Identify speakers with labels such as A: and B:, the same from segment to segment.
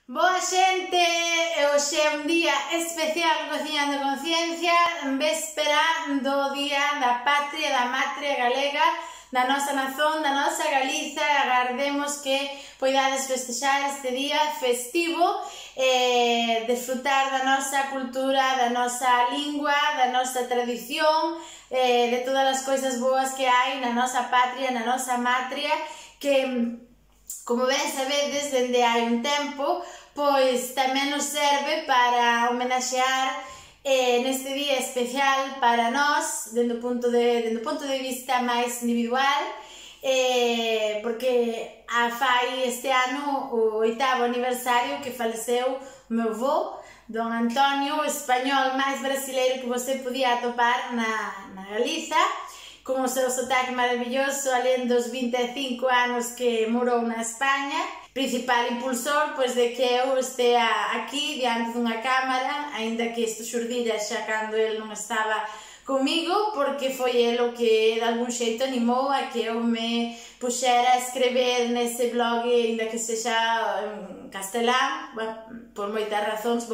A: Boa xente, hoxe é un día especial Cociñando Conciencia, en véspera do Día da Patria, da Matria Galega, da nosa nazón, da nosa Galiza. Agardemos que poidades festexar este día festivo, desfrutar da nosa cultura, da nosa lingua, da nosa tradición, de todas as coisas boas que hai na nosa patria, na nosa matria, que, como ben sabedes, dende hai un tempo, pois tamén nos serve para homenaxear neste día especial para nós, dende o punto de vista máis individual, porque fai este ano o 8º aniversario que faleceu o meu avó, Don Antonio, o español máis brasileiro que você podía atopar na Galiza, con o seu sotaque maravilloso, alén dos 25 anos que morou na España, principal impulsor pois de que eu estea aquí diante dunha cámara, aínda que isto xurdira xa cando el non estaba comigo, porque foi el o que de algún xeito animou a que eu me puxera a escrever nese blog, aínda que sexa en castelán, por moitas razóns,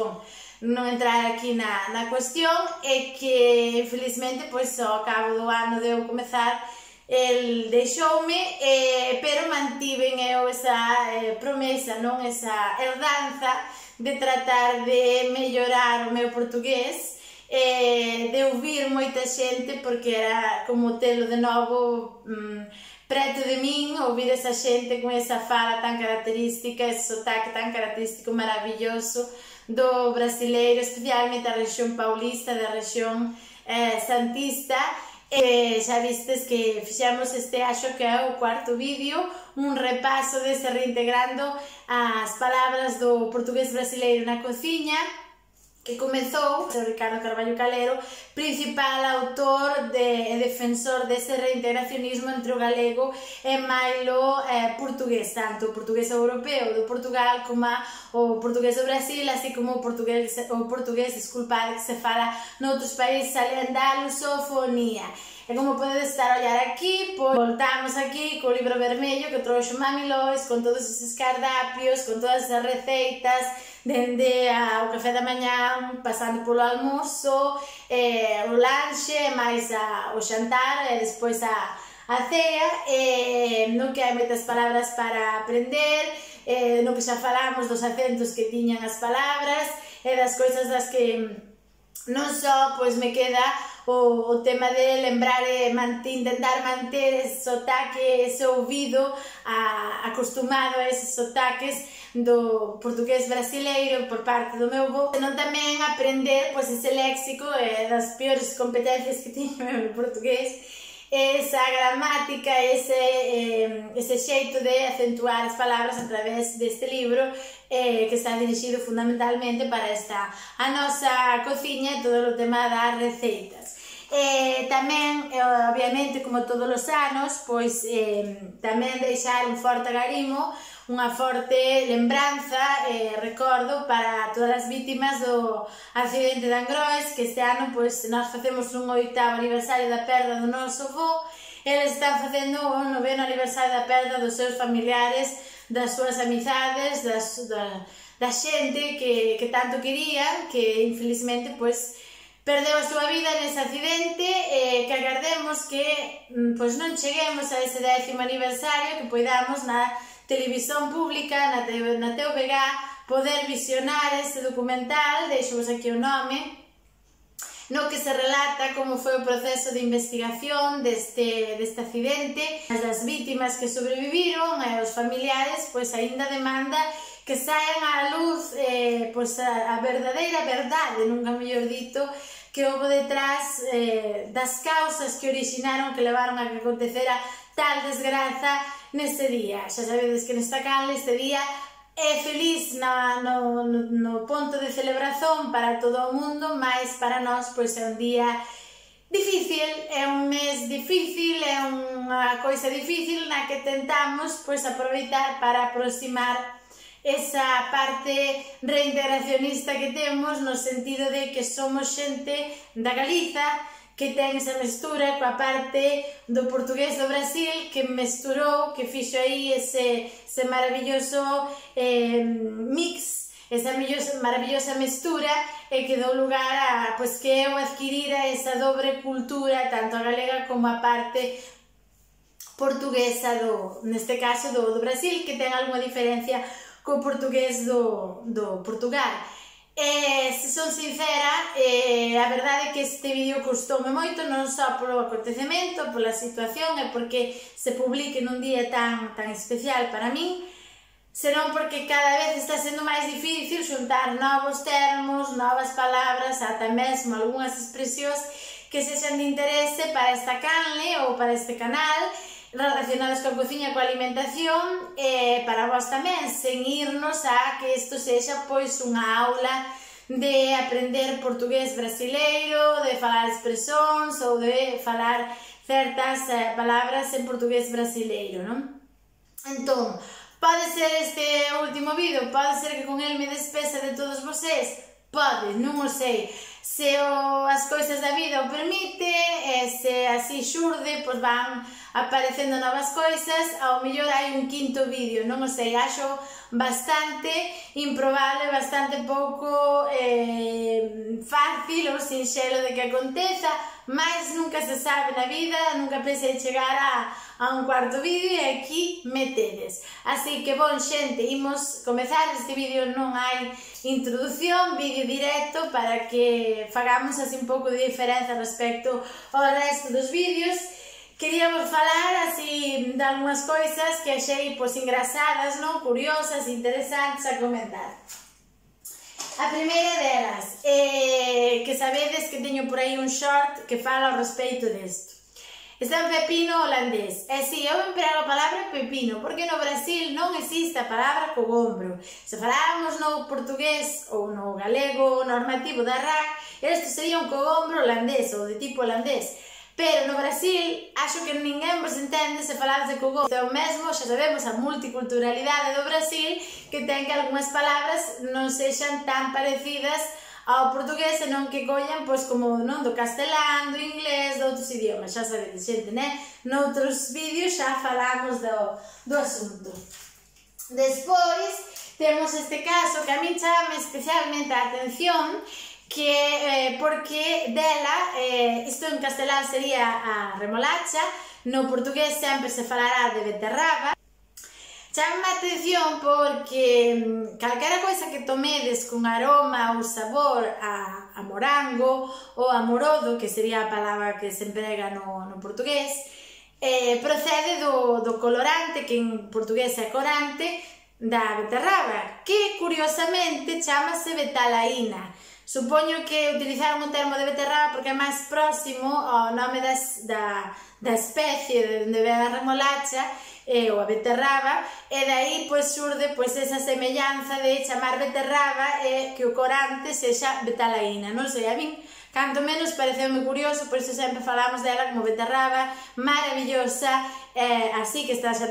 A: non entrar aquí na cuestión, é que infelizmente pois ao cabo do ano de eu comezar el deixoume, pero mantiven eu esa promesa, non, esa herdanza de tratar de mellorar o meu portugués, de ouvir moita xente, porque era como telo de novo preto de min, ouvir esa xente con esa fala tan característica, ese sotaque tan característico, maravilloso do brasileiro, especialmente da rexión paulista, da rexión santista. Xa vistes que fixemos este, acho que é o 4º vídeo, un repaso dese reintegrando as palabras do portugués brasileiro na cociña, que comezou o Ricardo Carballo Calero, principal autor e defensor dese reintegracionismo entre o galego e mailo portugués, tanto o portugués europeo do Portugal como o portugués do Brasil, así como o portugués, disculpade, que se fala noutros países alén da lusofonía. E como podedes estar a ollar aquí, pois voltamos aquí co libro vermello que trouxo Mami Lois, con todos eses cardapios, con todas as receitas, dende ao café da mañá, pasando polo almozo, o lanche, máis o xantar, e despois a cea, no que hai moitas palabras para aprender, no que xa falamos dos acentos que tiñan as palabras, e das coisas das que non só pois me queda o tema de lembrar e intentar manter ese sotaque, ese ouvido acostumado a eses sotaques do portugués brasileiro por parte do meu avó, senón tamén aprender pois ese léxico, das peores competencias que teño no portugués, esa gramática, ese xeito de acentuar as palabras a través deste libro, que está dirixido fundamentalmente para a nosa cociña e todo o tema das receitas. Tamén, obviamente, como todos os anos, pois tamén deixar un forte agarimo, unha forte lembranza, recordo para todas as vítimas do accidente de Angrois, que este ano pois nós facemos un 8º aniversario da perda do noso avó. Eles están facendo o 9º aniversario da perda dos seus familiares, das súas amizades, da xente que tanto querían, que infelizmente pois perdeu a súa vida nese accidente, que agardemos que pois non cheguemos a ese 10º aniversario, que poidamos na televisión pública, na TVG, poder visionar ese documental, deixo-vos aquí o nome, no que se relata como foi o proceso de investigación deste accidente, as vítimas que sobreviviron e os familiares, pois aínda demanda que saian á luz pois a verdadeira verdade, nunca mellor dito, que houve detrás das causas que originaron, que levaron a que acontecera tal desgraza neste día. Xa sabedes que nesta canle este día é feliz no ponto de celebración para todo o mundo, mas para nós pois é un día difícil, é un mes difícil, é unha coisa difícil na que tentamos pois aproveitar para aproximar esa parte reintegracionista que temos, no sentido de que somos xente da Galiza, que ten esa mestura coa parte do portugués do Brasil, que mesturou, que fixo aí ese maravilloso mix esa maravillosa mestura que dou lugar a que eu adquirira esa dobre cultura, tanto a galega como a parte portuguesa, neste caso do Brasil, que ten algunha diferencia co portugués do Portugal. Se son sincera, a verdade é que este vídeo custoume moito, non só polo acontecemento, pola situación e porque se publique nun día tan especial para min, senón porque cada vez está sendo máis difícil xuntar novos termos, novas palabras, ata mesmo algunhas expresións que sexan de interese para esta canle ou para este canal, relacionados coa cociña e coa alimentación, para vos tamén, sen irnos a que isto sexa pois unha aula de aprender portugués brasileiro, de falar expresións ou de falar certas palabras en portugués brasileiro, non? Entón, pode ser este último vídeo, pode ser que con el me despesa de todos vocês, pode, non o sei. Se as cousas da vida o permite, se así xurde, pois van aparecendo novas coisas, ao mellor hai un quinto vídeo, non o sei, acho bastante improbable, bastante pouco fácil ou sinxelo de que aconteza, mas nunca se sabe na vida, nunca pensei chegar a un cuarto vídeo e aquí me tedes. Así que, bon, xente, imos comezar. Este vídeo non hai introducción, vídeo directo para que fagamos así un pouco de diferenza respecto ao resto dos vídeos. Queríamos falar así de algunhas coisas que achei pois engraçadas, non? Curiosas, interesantes a comentar. A primeira delas, que sabedes que teño por aí un short que fala ao respecto desto. Está un pepino holandés. E si, eu emprego a palabra pepino, porque no Brasil non existe a palabra cogombro. Se faláramos no portugués ou no galego normativo da RAC, isto sería un cogombro holandés ou de tipo holandés. Pero no Brasil, acho que ninguén vos entende se falades de cogombro. Então mesmo, xa sabemos a multiculturalidade do Brasil, que ten que algunhas palabras non sexan tan parecidas ao portugués, senón que collan pois como non do castelán, do inglés, de outros idiomas, xa sabedes, xente, né? Noutros vídeos xa falamos do asunto. Despois, temos este caso que a min chama especialmente a atención, que porque dela, isto en castelán sería a remolacha, no portugués sempre se falará de beterraba. Chama a atención porque calquera coisa que tomedes con aroma ou sabor a morango ou a morodo, que sería a palabra que se emprega no portugués, procede do colorante, que en portugués é corante, da beterraba, que curiosamente chamase betalaína. Supoño que utilizaron o termo de beterraba porque é máis próximo ao nome da especie de onde ven a remolacha ou a beterraba, e dai pois xurde pois esa semellanza de chamar beterraba e que o corante sexa betalaína. Non sei, a min canto menos pareceume curioso, por iso sempre falamos dela como beterraba maravillosa, así que está xa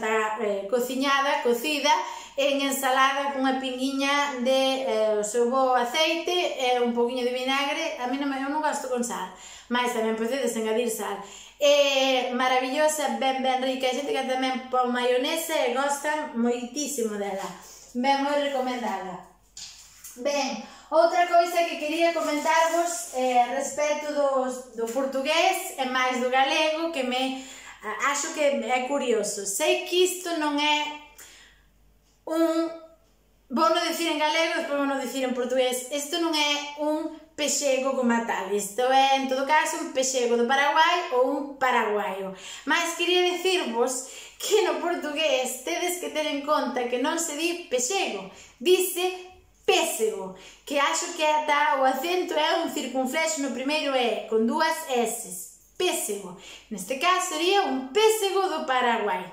A: cociñada, cocida en ensalada cunha pinguiña de o seu bo aceite e un poquinho de vinagre. A mí eu non gosto con sal, mas tamén podedes engadir sal. Maravillosa, ben rica, a xente que tamén pon maionesa e gostan moitísimo dela, ben moi recomendada. Ben, outra coisa que quería comentarvos respecto do portugués e máis do galego, que acho que é curioso. Sei que isto non é vou non dicir en galego, despois vou non dicir en portugués, isto non é un pexego como tal, isto é en todo caso un pexego do Paraguai ou un paraguaio. Mas quería dicirvos que no portugués tedes que ter en conta que non se di pexego, dice pésego, que acho que ata o acento é un circunflexo no primeiro E, con dúas S, pésego. Neste caso sería un pésego do Paraguai.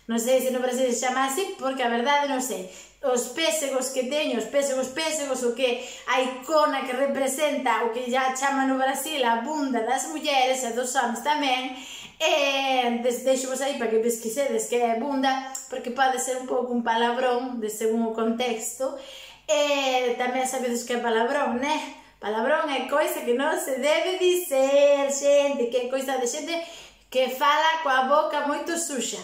A: Non sei se no Brasil se chama así, porque a verdade non sei. Os pésegos que teño, os pésegos, o que a icona que representa o que já chama no Brasil a bunda das mulleres e dos homens tamén, deixo vos aí para que pesquisedes que é bunda, porque pode ser un pouco un palabrón, de según o contexto, e tamén sabedes que é palabrón, né? Palabrón é coisa que non se debe dizer, xente, que é coisa de xente que fala coa boca moito suxa.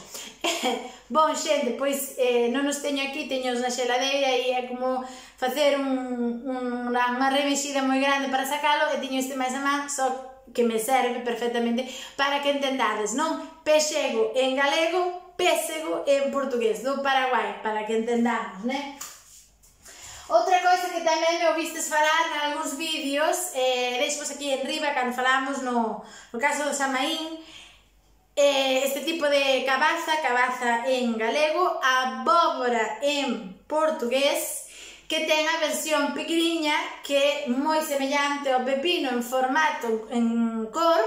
A: Bon, xente, pois non os teño aquí, teños na xeladeira e é como facer unha remexida moi grande para sacalo e teño este máis a man, só que me serve perfectamente para que entendades, non? Pexego en galego, pésego en portugués, do Paraguai, para que entendamos, né? Outra coisa que tamén me ouvistes falar en algúns vídeos, deixos aquí en riba, cando falamos no caso do Samaín, este tipo de cabaza en galego, abóbora en portugués, que ten a versión pequeniña que é moi semellante ao pepino en formato, en cor,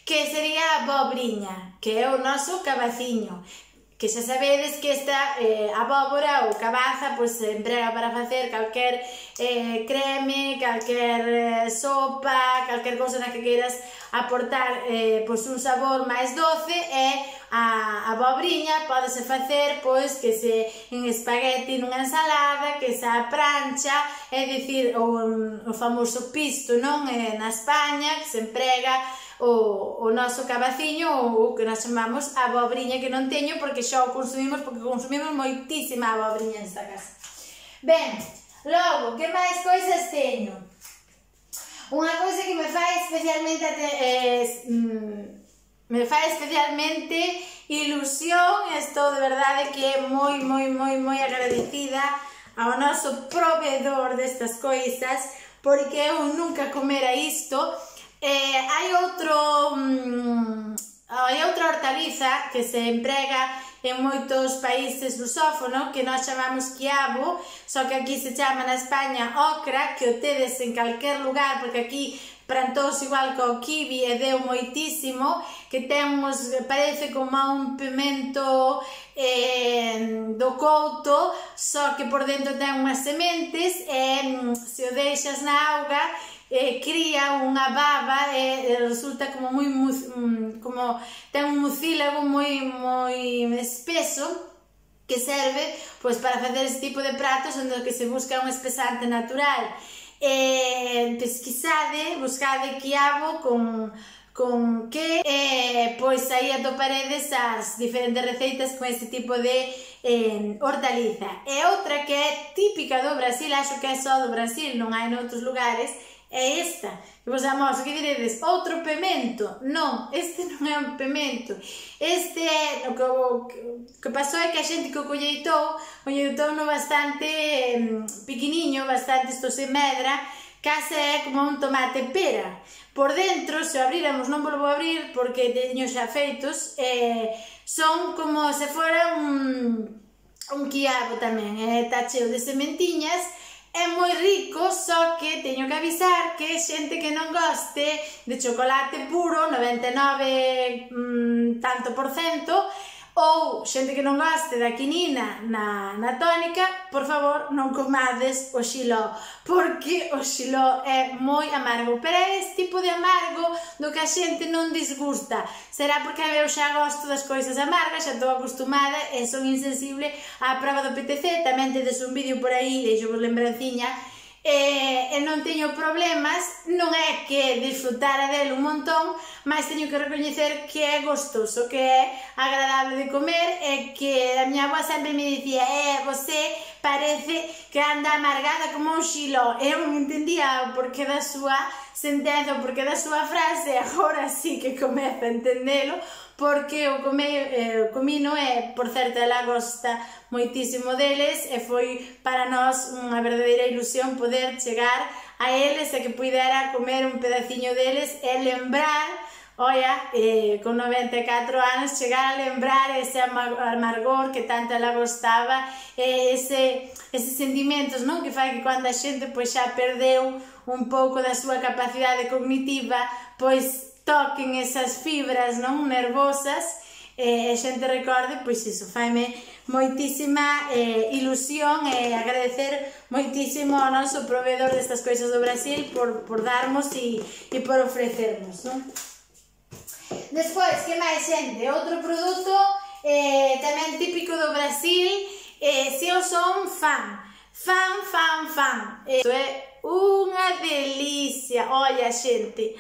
A: que sería a abobriña, que é o noso cabaciño, que xa sabedes que esta abóbora ou cabaza pois se emprega para facer calquer creme, calquer sopa, calquer cousa na que queiras aportar pois un sabor máis doce, e a abobriña pódese facer pois que se en espagueti nunha ensalada, que se a prancha, é dicir, o famoso pisto, non? Na España, que se emprega o noso cabaciño, ou o que nós chamamos abobriña, que non teño porque xa o consumimos, porque consumimos moitísima abobriña nesta casa. Ben, logo, que máis coisas teño? Unha coisa que me fai especialmente ilusión, estou de verdade que é moi agradecida ao noso proveedor destas coisas, porque eu nunca comera isto. Hai outra hortaliza que se emprega en moitos países lusófonos, que nós chamamos quiabo, só que aquí se chama na España ocra, que o tedes en calquer lugar, porque aquí plantouse igual co kiwi e deu moitísimo, que temos, parece como un pimento do couto, só que por dentro ten unhas sementes, e se o deixas na auga, cría unha baba e resulta como moi, como ten un mucílago moi espeso, que serve pois para facer este tipo de pratos onde que se busca un espesante natural. Pesquisade, buscade quiabo con que pois aí atoparedes as diferentes receitas con este tipo de hortaliza. E outra que é típica do Brasil, acho que é só do Brasil, non hai noutros lugares, é esta, que vos amoso, que diredes, outro pemento? Non, este non é un pemento, este é, o que pasou é que a xente que o colleitou no bastante pequeniño, bastante isto se medra, case é como un tomate pera. Por dentro, se o abriramos, non volvo a abrir porque teño xa feitos, son como se fora un quiabo tamén, está cheo de sementiñas. É moi rico, só que teño que avisar que xente que non goste de chocolate puro, 99 tanto por cento, ou xente que non goste da quinina na tónica, por favor, non comades o xiló, porque o xiló é moi amargo, pero é este tipo de amargo do que a xente non disgusta. Será porque eu xa gosto das coisas amargas, xa estou acostumada e son insensible á prova do PTC, tamén tedes un vídeo por aí, deixo vos lembranciña, e non teño problemas, non é que disfrutara del un montón, mas teño que recoñecer que é gostoso, que é agradable de comer, e que a miña avó sempre me dicía, você parece que anda amargada como un xiló. Eu non entendía o porqué da súa sentenza, o porqué da súa frase, agora sí que comezo a entendelo, porque o comino é, por certo, ela gosta moitísimo deles, e foi para nós unha verdadeira ilusión poder chegar a eles e que puidera comer un pedaciño deles e lembrar, olla, con 94 anos, chegar a lembrar ese amargor que tanto ela gostaba, eses sentimentos, non? Que fai que cando a xente pois xa perdeu un pouco da súa capacidade cognitiva, pois toquen esas fibras, non, nervosas, a xente recorde, pois iso, faime moitísima ilusión e agradecer moitísimo ao noso proveedor destas coisas do Brasil por darmos e por ofrecernos, non? Despois, que máis, xente? Outro produto tamén típico do Brasil, se eu son fan. Isto é unha delicia, olla, xente,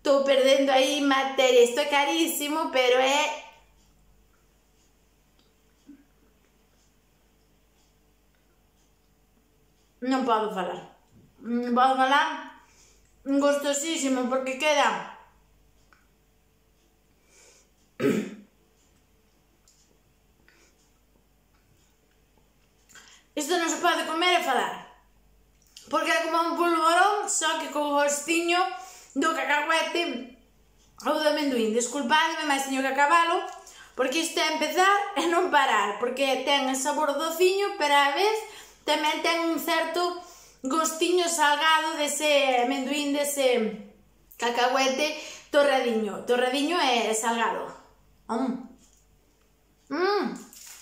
A: estou perdendo aí materia, isto é carísimo, pero é non podo falar. Non podo falar, gustosísimo, porque queda... Isto non se pode comer e falar, porque é como un polvorón, só que con o gostiño do cacahuete ou do amendoín. Desculpadme, mas teño que acabalo, porque isto é empezar e non parar, porque ten el sabor dociño, pero a vez tamén ten un certo gostiño salgado dese amendoín, dese cacahuete torradiño. Torradiño é salgado.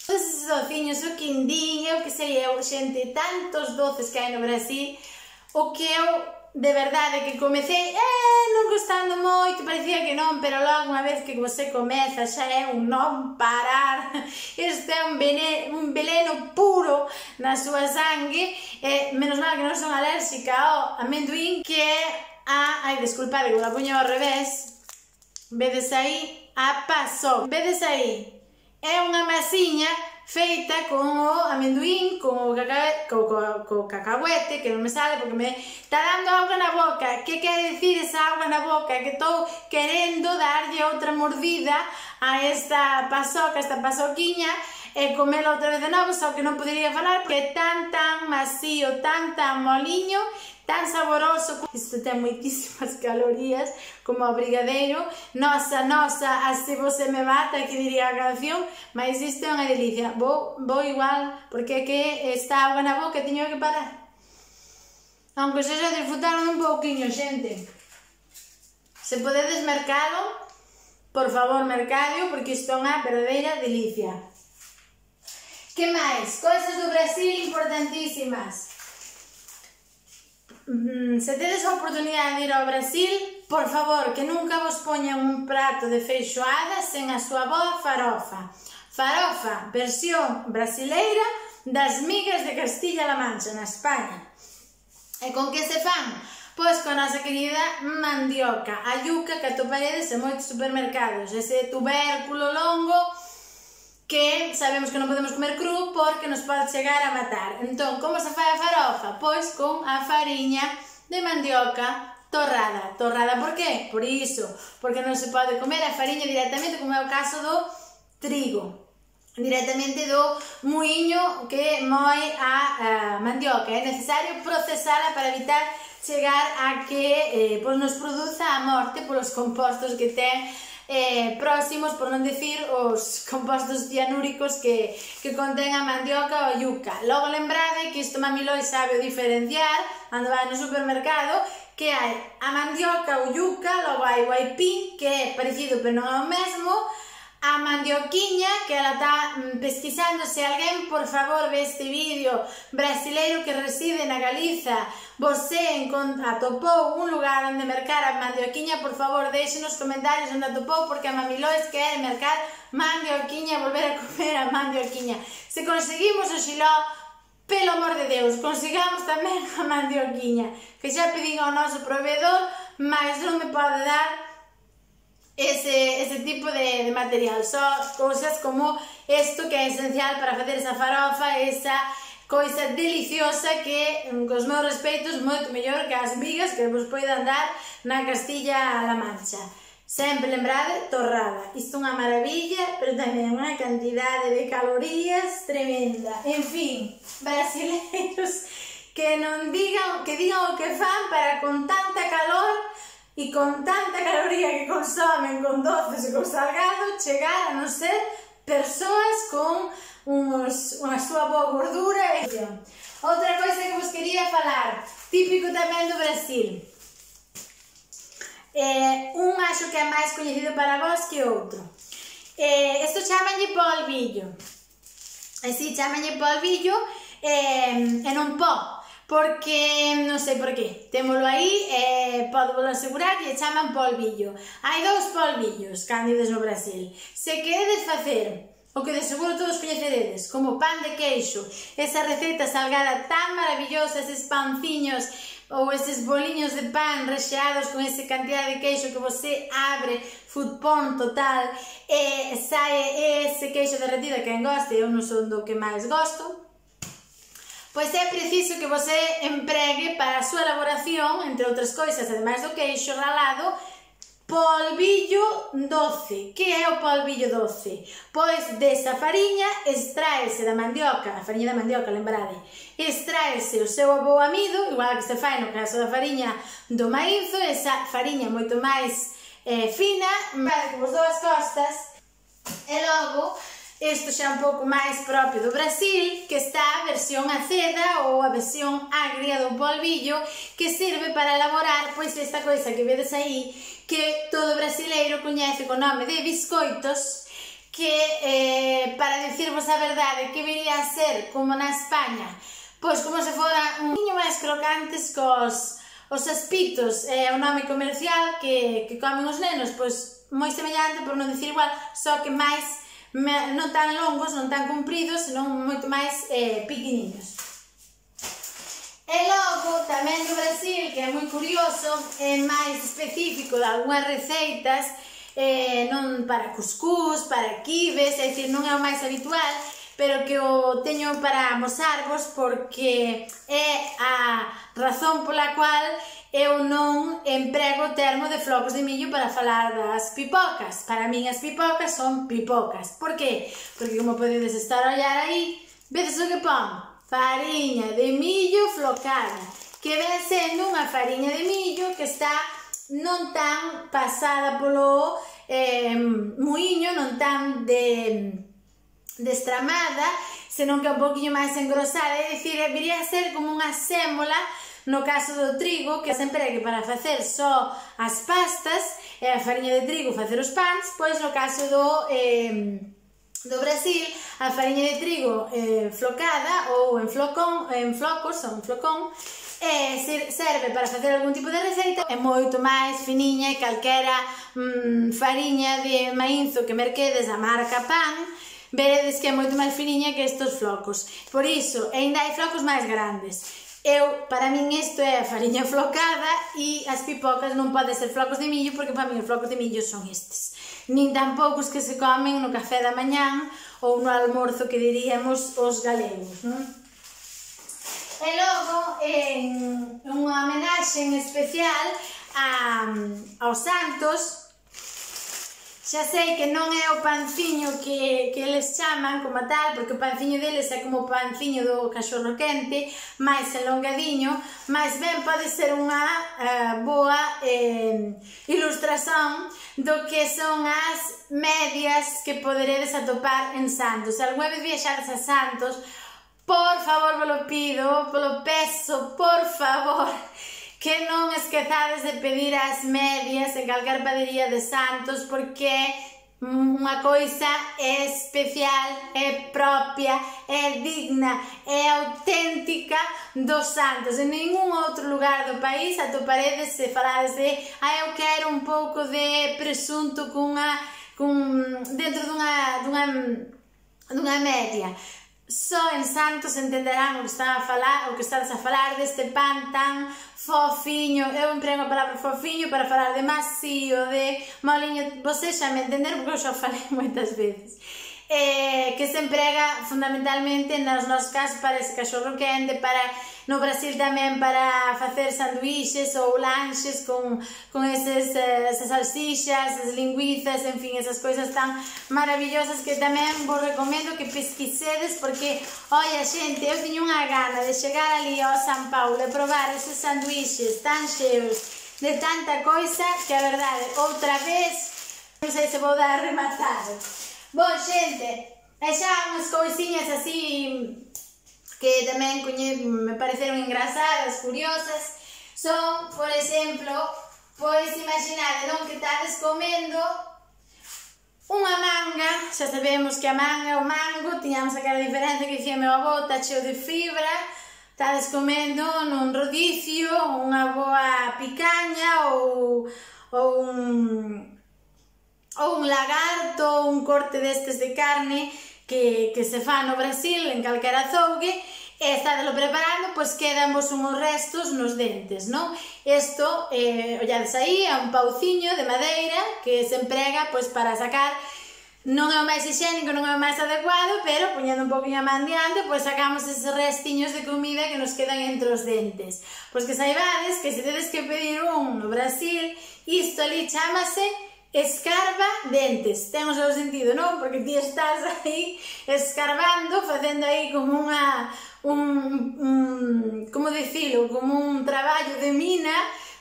A: Todos esos dociños, o quindín, eu que sei eu, xente, tantos doces que hai no Brasil, o que eu, de verdade, que comecei, non gostando moito, parecía que non, pero logo unha vez que você comeza xa é un non parar. Este é un veleno puro na súa sangue, menos mal que non son alérxica ao amendoín, que é ai, desculpade, que la puño ao revés, vedes aí, a pasoca, vedes aí, é unha masiña feita con o amendoín, con o cacahuete, que non me sale porque me está dando auga na boca. Que quere dicir esa auga na boca? Que estou querendo darlle outra mordida a esta pasoca, esta pasoquiña, e comela outra vez de novo, só que non podería falar porque é tan masío, tan moliño, tan saboroso. Isto ten moitísimas calorías, como o brigadeiro. Nosa, así você me mata, que diría a canción, mas isto é unha delicia. Vou igual, porque é que esta auga na boca teño que parar. Aunque se xa disfrutaron un pouquiño, xente. Se podedes mercalo, por favor, mercadio, porque isto é unha verdadeira delicia. Que máis? Cousas do Brasil importantísimas. Se tedes a oportunidade de ir ao Brasil, por favor, que nunca vos poñan un prato de feijoada sen a súa boa farofa. Farofa, versión brasileira das migas de Castilla-La Mancha, na España. E con que se fan? Pois con a nosa querida mandioca, a yuca que atoparedes en moitos supermercados, ese tubérculo longo que sabemos que non podemos comer cru porque nos pode chegar a matar. Entón, como se fai a farofa? Pois con a fariña de mandioca torrada. Torrada por qué? Por iso, porque non se pode comer a fariña directamente, como é o caso do trigo, directamente do muiño que moe a mandioca. É necesario procesala para evitar chegar a que nos produza a morte polos compostos que ten próximos, por non dicir os compostos cianúricos que contén a mandioca ou a yuca. Logo lembrade que isto Mami Lois sabe diferenciar cando vai no supermercado, que hai a mandioca ou yuca, logo hai o aipín, que é parecido pero non é o mesmo, a mandioquiña, que ela está pesquisando. Se alguén, por favor, ve este vídeo brasileiro que reside na Galiza, você atopou un lugar onde mercar a mandioquiña, por favor, deixe nos comentarios onde atopou, porque a Mami Lois quer mercar mandioquiña, volver a comer a mandioquiña. Se conseguimos o xiló, pelo amor de Deus, consigamos tamén a mandioquiña, que xa pedín ao noso proveedor, mas non me pode dar ese tipo de material, só cousas como isto que é esencial para facer esa farofa, esa coisa deliciosa que, cos meus respeitos, moito mellor que as migas que vos poidan dar na Castilla-La Mancha. Sempre lembrade, torrada. Isto é unha maravilla, pero tamén unha cantidade de calorías tremenda. En fin, brasileiros que non digan, que digan o que fan para con tanta calor e con tanta caloría que consomen con doces e con salgado, chegar a non ser persoas con unha súa boa gordura. Outra coisa que vos quería falar, típico tamén do Brasil, un acho que é máis coñecido para vos que outro. Isto chamanlle polvillo, así chamanlle polvillo, e non pó, porque non sei por qué, témolo aí, podo vos asegurar que chaman polvillo. Hai dous polvillos cándidos no Brasil. Se queredes facer o que de seguro todos coñeceredes, como pan de queixo, esa receita salgada tan maravillosa, eses panciños ou eses boliños de pan recheados con esa cantidad de queixo que você abre, food porn total, e sae ese queixo derretido, que en goste, eu non son do que máis gosto. pois é preciso que você empregue para a súa elaboración, entre outras coisas, ademais do queixo ralado, polvillo doce. Que é o polvillo doce? Pois desa fariña extraese da mandioca, a fariña da mandioca, lembrade, extraese o seu bo amido, igual que se fai no caso da fariña do maízo, esa fariña moito máis fina, como as dúas costas, e logo, isto xa un pouco máis propio do Brasil, que está a versión aceda ou a versión agria do polvillo, que sirve para elaborar pois esta coisa que vedes aí, que todo brasileiro coñece co nome de biscoitos, que, para dicirvos a verdade, que viría a ser como na España, pois como se fora un poquinho máis crocantes os aspitos, é o nome comercial que comen os nenos, pois moi semellante, por non dicir igual, só que máis non tan longos, non tan compridos, senón moito máis pequeniños. E logo, tamén do Brasil, que é moi curioso, é máis específico de algunhas receitas, non para cuscús, para quibes, é dicir, non é o máis habitual, pero que o teño para amosarvos porque é a razón pola cual eu non emprego o termo de flocos de millo para falar das pipocas. Para min as pipocas son pipocas. Por qué? Porque como podedes estar a olhar aí, vedes o que pon? Fariña de millo flocada, que ven sendo unha fariña de millo que está non tan pasada polo muiño, non tan destramada, senón que é un poquinho máis engrosada, é dicir, viría a ser como unha sémola. No caso do trigo, que se empregue para facer só as pastas, e a fariña de trigo facer os pans, pois no caso do Brasil, a fariña de trigo flocada ou en flocos, ou en flocón, serve para facer algún tipo de receita, é moito máis finiña e calquera fariña de maízo que merquedes a marca Pan, veredes que é moito máis finiña que estes flocos. Por iso, ainda hai flocos máis grandes. Para min isto é a fariña flocada e as pipocas non poden ser flocos de millo porque para min os flocos de millo son estes. Nin tampouco os que se comen no café da mañán ou no almorzo que diríamos os galegos, non? E logo, en unha homenaxe especial aos santos, xa sei que non é o panciño que eles chaman como tal, porque o panciño deles é como o panciño do cachorro quente, máis elongadiño, máis ben pode ser unha boa ilustración do que son as medias que poderedes atopar en Santos. Se algunha vez viaxades a Santos, por favor, vos pido, polo peso, por favor, que non esquezades de pedir as medias en calquer padaría de Santos, porque unha coisa é especial, é propia, é digna, é auténtica dos Santos. En ningún outro lugar do país atoparedes se falades de eu quero un pouco de presunto dentro dunha media. Só en Santos entenderán o que estás a falar deste pan tan fofiño. Eu emprego a palabra fofiño para falar de macío, de moliño, vocês xa me entenderon porque eu xa falei moitas veces, que se emprega fundamentalmente nos nosos casos para ese cachorro quente, no Brasil tamén para facer sanduíches ou lanches con esas salsixas, as linguizas, en fin, esas coisas tan maravillosas que tamén vos recomendo que pesquisedes, porque, oia xente, eu tiño unha gana de chegar ali ao San Paulo e probar eses sanduíches tan cheos de tanta coisa que a verdade, outra vez, non sei se vou dar rematado. Bon, xente, e xa unhas cousiñas así que tamén me pareceron engrasadas, curiosas, son, por exemplo, pois imaginade, non, que estades comendo unha manga, xa sabemos que a manga, o mango, tiñamos aquela diferencia que dicía meu avó, está cheo de fibra, estades comendo nun rodicio, unha boa picaña ou un lagarto, un corte destes de carne que se fa no Brasil, en calquera azougue, e estádelo preparando, pois quedanvos unhos restos nos dentes, non? Isto, ollades aí, é un pauciño de madeira que se emprega pois para sacar non é o máis higiénico, non é o máis adecuado, pero poñendo un poquinho a man diante, pois sacamos eses restiños de comida que nos quedan entre os dentes. Pois que saibades que se tedes que pedir un no Brasil, isto ali chamase escarba dentes. Ten o seu sentido, non? Porque ti estás aí escarbando, facendo aí como como dicilo, como un traballo de mina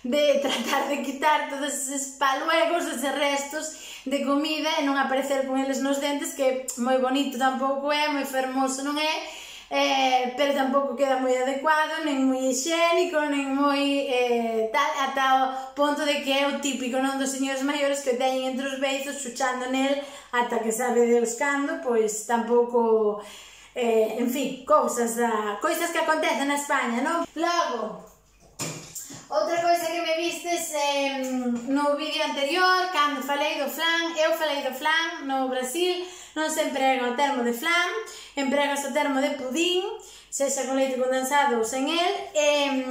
A: de tratar de quitar todos eses paluegos, eses restos de comida e non aparecer con eles nos dentes, que moi bonito tampouco é, moi fermoso non é, pero tampouco queda moi adecuado, nen moi higiénico, nen moi tal, ata o ponto de que é o típico non dos señores maiores que teñen entre os beizos chuchando nel ata que sabe Deus cando, pois tampouco, en fin, cousas que acontecen na España, non? Logo, outra coisa que me vistes no vídeo anterior, cando falei do flan, eu falei do flan no Brasil, non se emprega o termo de flan, emprega o termo de pudín, sexa con leite condensado ou sen el, e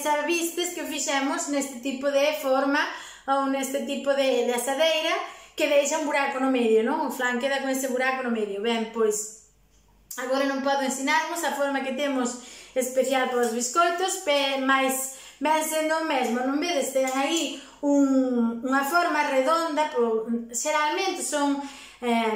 A: xa vistes que o fixemos neste tipo de forma ou neste tipo de asadeira que deixa un buraco no medio, non? O flan queda con ese buraco no medio. Ben, pois, agora non podo ensinarvos a forma que temos especial para os biscoitos, mas ven sendo o mesmo, non vedes? Ten aí unha forma redonda, xeralmente son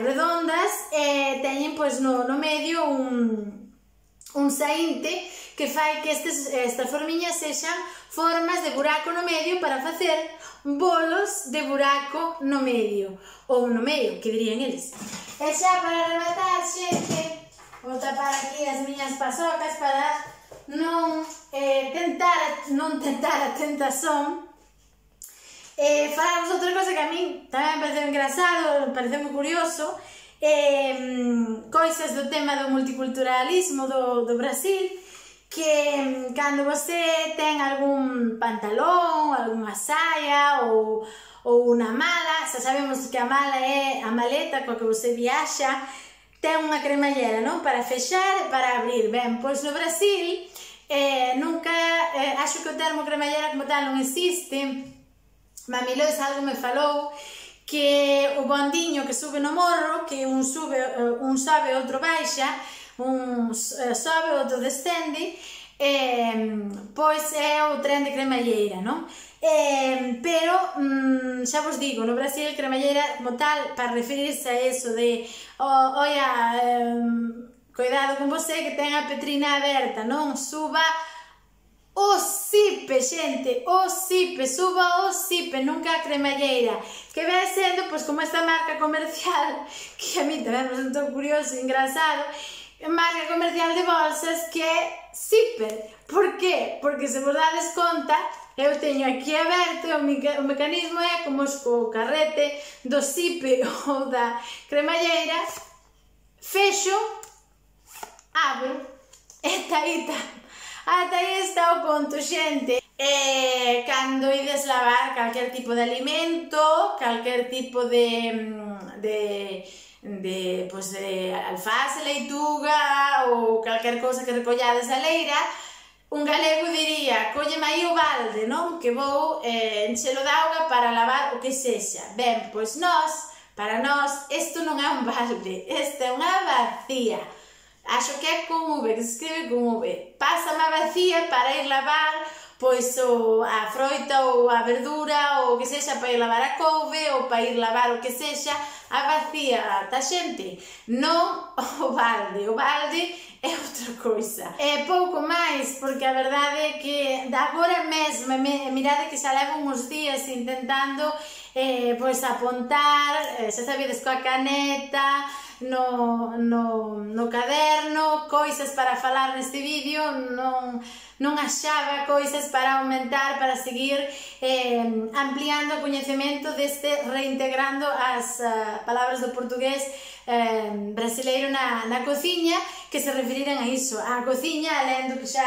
A: redondas e teñen no medio un saínte que fai que estas formiñas sexan formas de buraco no medio para facer bolos de buraco no medio, ou no medio, que dirían eles. E xa para rematar, xente, vou tapar aquí as miñas pasocas para non tentar a tentación. Falamos outra cosa que a min tamén me pareceu engraçado, me pareceu moi curioso, coisas do tema do multiculturalismo do Brasil, que cando você ten algún pantalón, algunha saia ou unha mala, xa sabemos que a mala é a maleta coa que você viaxa, ten unha cremallera, non? Para fechar e para abrir. Ben, pois no Brasil nunca, acho que o termo cremallera como tal non existe. Mami Lois algo me falou que o bondiño que sube no morro, que un sobe, outro baixa, un sobe, outro descende, pois é o tren de cremalleira, non? Pero, xa vos digo, no Brasil cremalleira como tal, para referirse a eso de oia, cuidado con você que ten a petrina aberta, non? Suba o zipe, xente, o zipe, suba o zipe, nunca a cremalleira, que vai sendo, pois, como esta marca comercial, que a mí tamén me sentou curioso e engraçado, marca comercial de bolsas que é Zipper. Por qué? Porque se vos dades conta, eu teño aquí aberto, o mecanismo é como o carrete do zipe ou da cremalleira, fexo, abro, ata aí está o conto, xente. Cando ides lavar calquer tipo de alimento, calquer tipo de alface, leituga ou calquer cousa que recollades a leira, un galego diría, colleme aí o balde, non? Que vou enchelo de auga para lavar o que sexa. Ben, pois para nós, isto non é un balde, isto é unha vacía. Acho que é con V, que se escribe con V. Pásame a vacía para ir lavar pois a froita ou a verdura ou o que sexa, para ir lavar a couve ou para ir lavar o que sexa, a vacía, tá xente? Non o balde é outra coisa. É pouco máis, porque a verdade é que agora mesmo, mirade que xa levo uns días intentando pois apontar, xa sabedes, coa caneta, no caderno, coisas para falar neste vídeo, non achaba coisas para aumentar, para seguir ampliando o coñecemento deste, reintegrando as palabras do portugués brasileiro na cociña, que se referiran a iso, a cociña, alén do que xa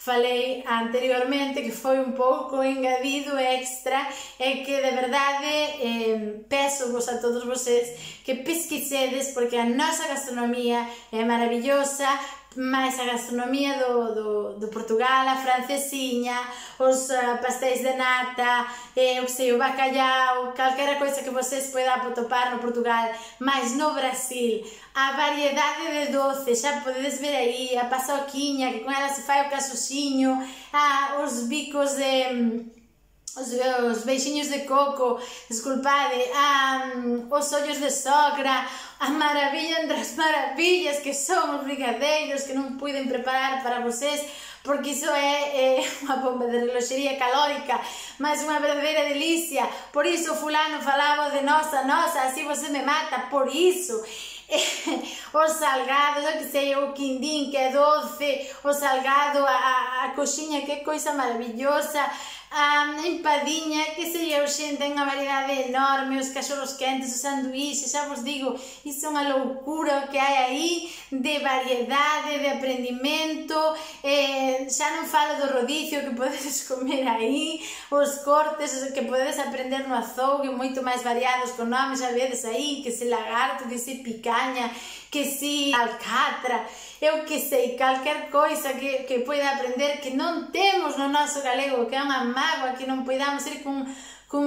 A: falei anteriormente, que foi un pouco engadido extra, e que de verdade peço vos a todos vocês que pesquisedes, porque a nosa gastronomía é maravillosa, máis a gastronomía do Portugal, a francesiña, os pastéis de nata, o bacalhau, calquera coisa que vocês poidan atopar no Portugal, máis no Brasil, a variedade de doces, xa podedes ver aí, a paçoquiña, que con ela se fai o casuxiño, os bicos de... os beixiños de coco, desculpade, os ollos de sogra, a maravilla entre as maravillas que son os brigadeiros que non puiden preparar para vocês, porque iso é unha bomba de reloxería calórica, mas unha verdadeira delicia. Por iso fulano falaba de nosa, así você me mata, por iso. Os salgados, eu que sei, o quindín que é doce, o salgado, a coxiña que é coisa maravillosa, a empadinha, que sei eu, xente, ten unha variedade enorme, os cachorros quentes, os sanduíches, xa vos digo, iso é unha loucura que hai aí de variedade, de aprendimento, xa non falo do rodicio que podedes comer aí, os cortes que podedes aprender no azougue, moito máis variados, con nomes, xa vedes aí, que se lagarto, que se picaña, que se alcatra, eu que sei, calquer coisa que poida aprender que non temos no noso galego, que é unha mágoa que non poidamos ir cun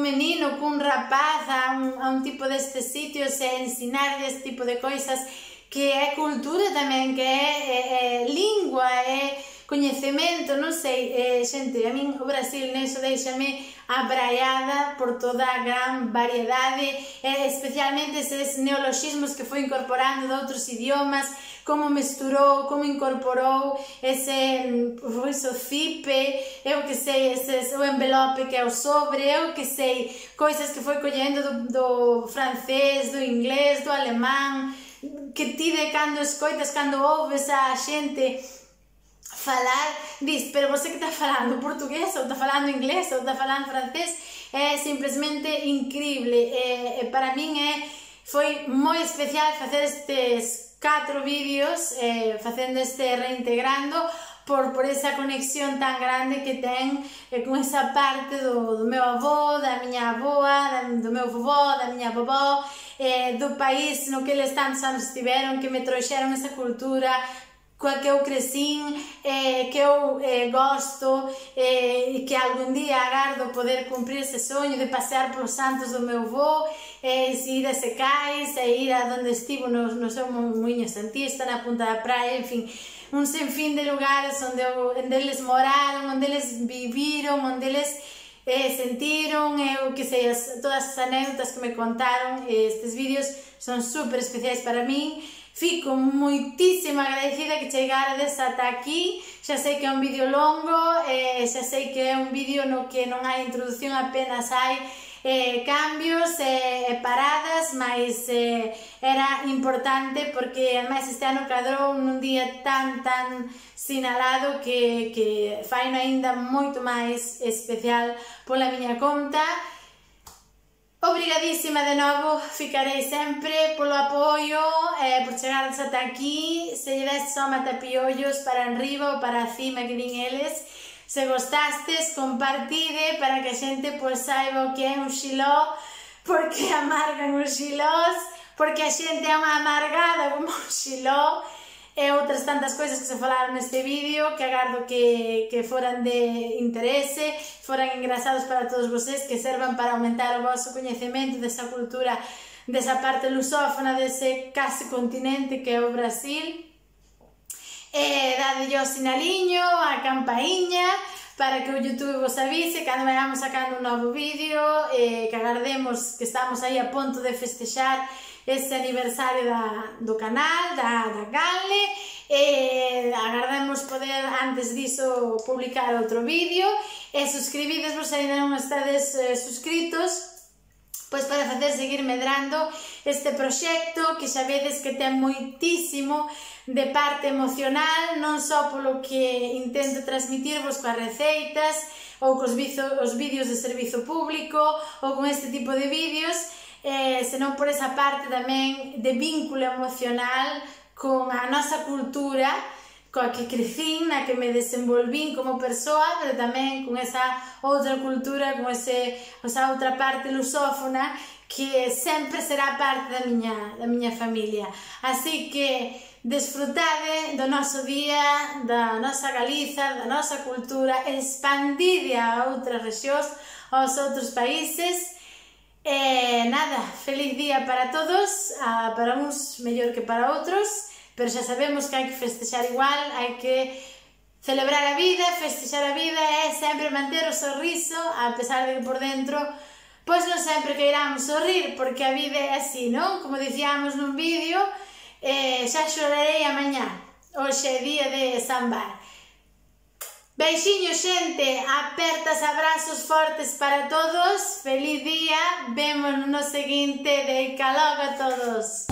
A: menino, cun rapaz a un tipo destes sitios e ensinar este tipo de coisas, que é cultura tamén, que é lingua, é coñecemento, non sei, xente, a min o Brasil neso deixame abraiada por toda a gran variedade, especialmente eses neoloxismos que foi incorporando de outros idiomas, como mesturou, como incorporou o cipe, eu que sei, o envelope que é o sobre, eu que sei, coisas que foi collendo do francés, do inglés, do alemán, que ti de cando escoitas, cando ouves a xente falar, diz, pero você que está falando portugués, ou está falando inglés, ou está falando francés, é simplesmente increíble. Para min foi moi especial facer estes 4 vídeos, facendo este reintegrando, por esa conexión tan grande que ten con esa parte do meu avó, da miña avoa, do meu vovó, da miña vovó, do país no que eles tantos anos estiveron, que me trouxeron esa cultura, coa que eu crecín, que eu gosto, e que algún día agardo poder cumprir ese soño de pasear polos santos do meu avó, ir a Secais, ir a donde estivo no seu muiño santista, na punta da praia, en fin, un sinfín de lugares onde eles moraron, onde eles viviron, onde eles sentiron, eu que sei, todas as anécdotas que me contaron. Estes vídeos son super especiais para min. Fico moitísimo agradecida que chegarades ata aquí. Xa sei que é un vídeo longo, xa sei que é un vídeo no que non hai introducción, apenas hai cambios e paradas, mas era importante porque ademais este ano cadrou nun día tan sinalado que faino aínda moito máis especial pola miña conta. Obrigadísima de novo, ficarei sempre polo apoio, por chegardes ata aquí. Se lle des só matapiollos para enriba ou para cima que din eles. Se gostastes, compartide para que a xente saiba o que é un xiló, porque amargan os xilós, porque a xente é unha amargada como un xiló, e outras tantas coisas que se falaron neste vídeo, que agardo que foran de interese, foran engrasados para todos vocês, que servan para aumentar o vosso coñecemento desa cultura, desa parte lusófona, dese case continente que é o Brasil. Dadelle o sinaliño, a campaíña, para que o YouTube vos avise cando vayamos sacando un novo vídeo, que agardemos que estamos aí a ponto de festexar ese aniversario do canal, da canle, agardamos poder antes diso publicar outro vídeo, e suscribidesvos se ainda non estades suscritos, pois para facer seguir medrando este proxecto que xa vedes que ten moitísimo de parte emocional, non só polo que intento transmitirvos coas receitas ou cos vídeos de servizo público ou con este tipo de vídeos, senón por esa parte tamén de vínculo emocional con a nosa cultura, coa que crecín, na que me desenvolvín como persoa, pero tamén con esa outra cultura, con esa outra parte lusófona que sempre será parte da miña familia. Así que desfrutade do noso día, da nosa Galiza, da nosa cultura, expandide a outras rexións, aos outros países. E nada, feliz día para todos, para uns mellor que para outros, pero xa sabemos que hai que festexar igual, hai que celebrar a vida, festexar a vida e sempre manter o sorriso, a pesar de que por dentro pois non sempre queiramos sorrir, porque a vida é así, non? Como dicíamos nun vídeo, xa xorarei amañá, hoxe é día de sambar. Beixiños, xente, apertas, abrazos fortes para todos, feliz día, vemos no seguinte, de logo a todos.